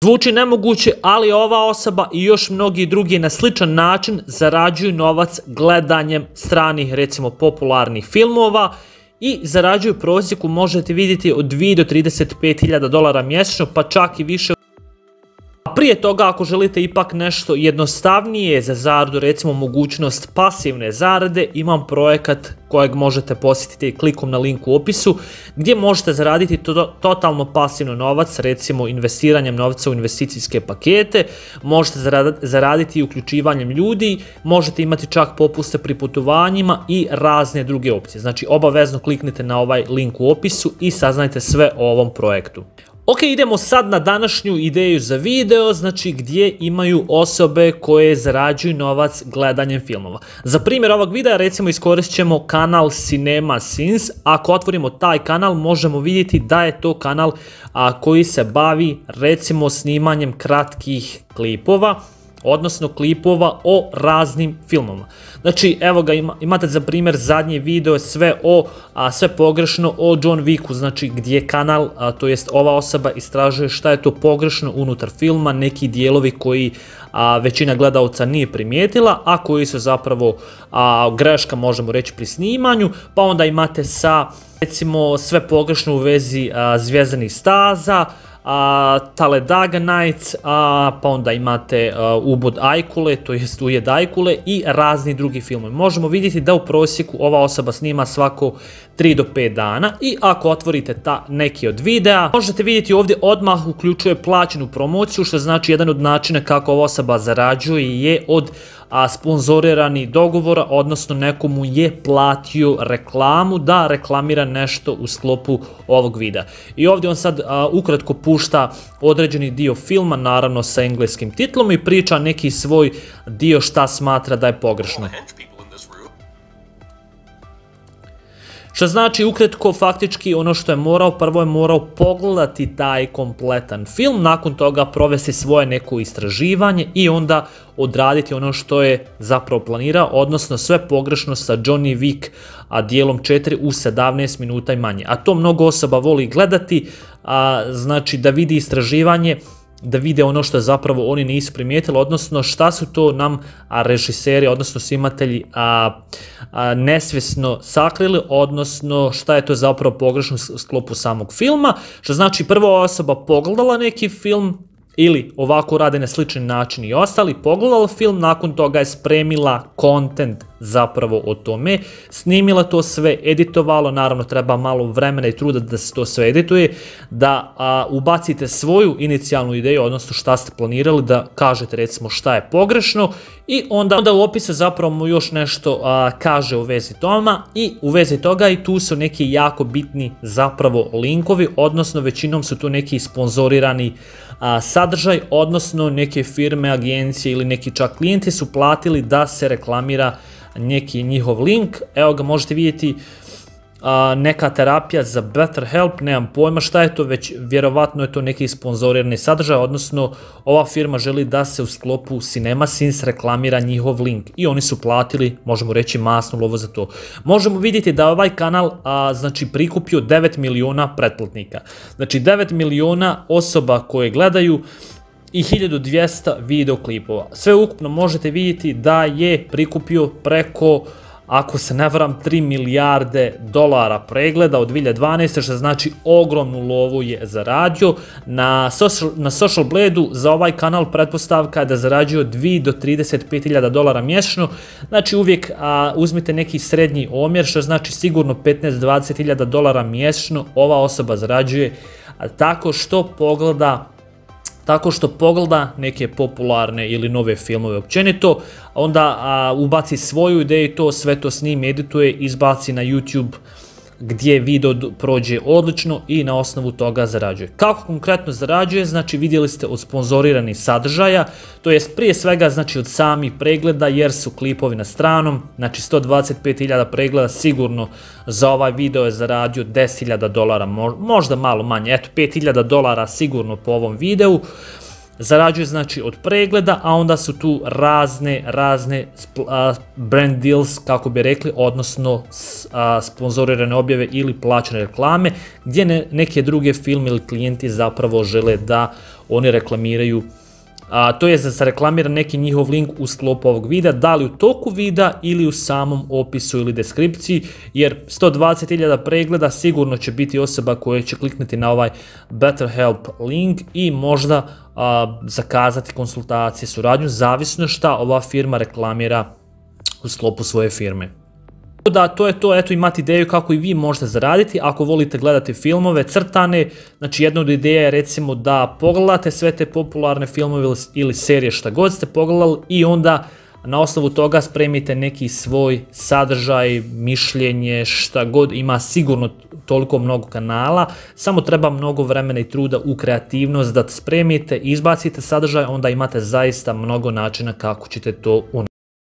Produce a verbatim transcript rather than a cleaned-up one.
Zvuči nemoguće, ali ova osoba i još mnogi drugi na sličan način zarađuju novac gledanjem stranih, recimo popularnih filmova i zarađuju u prosjeku, možete vidjeti, od dvije do trideset pet hiljada dolara mjesečno, pa čak i više. A prije toga, ako želite ipak nešto jednostavnije za zaradu, recimo mogućnost pasivne zarade, imam projekat kojeg možete posjetiti klikom na link u opisu, gdje možete zaraditi to, totalno pasivno novac, recimo investiranjem novca u investicijske pakete, možete zaraditi i uključivanjem ljudi, možete imati čak popuste pri putovanjima i razne druge opcije. Znači, obavezno kliknite na ovaj link u opisu i saznajte sve o ovom projektu. Ok, idemo sad na današnju ideju za video, znači gdje imaju osobe koje zarađuju novac gledanjem filmova. Za primjer ovog videa recimo iskoristit ćemo kanal CinemaSins. Ako otvorimo taj kanal možemo vidjeti da je to kanal a, koji se bavi recimo snimanjem kratkih klipova, odnosno klipova o raznim filmama. Znači, evo ga, ima, imate za primjer zadnje video sve o, a, sve pogrešno o John Wicku, znači gdje kanal, a, to jest ova osoba istražuje šta je to pogrešno unutar filma, neki dijelovi koji a, većina gledalca nije primijetila, a koji su zapravo a, greška, možemo reći, pri snimanju, pa onda imate sa, recimo, sve pogrešno u vezi a, Zvjezdanih staza, Uh, Talladega Nights, uh, pa onda imate uh, Ubod Ajkule, to jest Ujed Ajkule i razni drugi filmovi. Možemo vidjeti da u prosjeku ova osoba snima svako tri do pet dana i ako otvorite ta neki od videa, možete vidjeti ovdje odmah uključuje plaćenu promociju, što znači jedan od načina kako ova osoba zarađuje je od a, sponzorirani dogovora, odnosno nekomu je platio reklamu da reklamira nešto u sklopu ovog videa. I ovdje on sad a, ukratko pušta određeni dio filma, naravno sa engleskim titlom, i priča neki svoj dio šta smatra da je pogrešno. Što znači ukratko faktički ono što je morao, prvo je morao pogledati taj kompletan film, nakon toga provesti svoje neko istraživanje i onda odraditi ono što je zapravo planirao, odnosno sve pogrešno sa Johnny Wick a dijelom četiri u sedamnaest minuta i manje. A to mnogo osoba voli gledati, a, znači da vidi istraživanje, da vide ono što zapravo oni nisu primijetili, odnosno šta su to nam a, režiseri, odnosno snimatelji a, a, nesvjesno sakrili, odnosno šta je to zapravo pogrešno u sklopu samog filma, što znači prva osoba pogledala neki film, ili ovako rade na slični način i ostali, pogledala film, nakon toga je spremila content zapravo o tome, snimila to sve, editovalo, naravno treba malo vremena i truda da se to sve edituje, da a, ubacite svoju inicijalnu ideju, odnosno šta ste planirali, da kažete recimo šta je pogrešno i onda, onda u opisu zapravo mu još nešto a, kaže u vezi toma i u vezi toga i tu su neki jako bitni zapravo linkovi, odnosno većinom su tu neki sponzorirani a, sadržaj, odnosno neke firme, agencije ili neki čak klijenti su platili da se reklamira neki njihov link. Evo ga, možete vidjeti a, neka terapija za Better Help, nemam pojma šta je to, već vjerovatno je to neki sponzorirani sadržaj, odnosno ova firma želi da se u sklopu CinemaSins reklamira njihov link i oni su platili, možemo reći, masnu lovu za to. Možemo vidjeti da ovaj kanal a, znači prikupio devet miliona pretplatnika, znači devet miliona osoba koje gledaju i hiljadu dvjesto videoklipova. Sve ukupno možete vidjeti da je prikupio preko, ako se ne varam, tri milijarde dolara pregleda od dvije hiljade dvanaeste. što znači ogromnu lovu je zaradio. Na Social, na Social Blade-u za ovaj kanal pretpostavka je da zarađuje od dvije do trideset pet hiljada dolara mjesečno, znači uvijek a, uzmite neki srednji omjer, što znači sigurno petnaest do dvadeset hiljada dolara mjesečno ova osoba zarađuje a, tako što pogleda tako što pogleda neke popularne ili nove filmove općenito, onda a, ubaci svoju ideju, to sve to snimi, edituje, izbaci na YouTube gdje video prođe odlično i na osnovu toga zarađuje. Kako konkretno zarađuje? Znači vidjeli ste od sponzoriranih sadržaja, to jest prije svega znači od samih pregleda jer su klipovi na stranom, znači sto dvadeset pet hiljada pregleda sigurno za ovaj video je zaradio deset hiljada dolara, možda malo manje, eto pet hiljada dolara sigurno po ovom videu. zarađuje znači od pregleda, a onda su tu razne, razne brand deals, kako bi rekli, odnosno sponzorirane objave ili plaćene reklame, gdje ne, neke druge firme ili klijenti zapravo žele da oni reklamiraju, a, to je da se reklamira neki njihov link u sklopu ovog videa, da li u toku videa ili u samom opisu ili deskripciji, jer sto dvadeset hiljada pregleda sigurno će biti osoba koja će kliknuti na ovaj BetterHelp link i možda a, zakazati konsultacije, suradnju, zavisno šta ova firma reklamira u sklopu svoje firme. Da, to je to, eto imate ideju kako i vi možete zaraditi ako volite gledati filmove crtane. Znači jedna od ideja je recimo da pogledate sve te popularne filmove ili serije šta god ste pogledali i onda na osnovu toga spremite neki svoj sadržaj, mišljenje, šta god, ima sigurno toliko mnogo kanala, samo treba mnogo vremena i truda u kreativnost da spremite, izbacite sadržaj, onda imate zaista mnogo načina kako ćete to unijeti.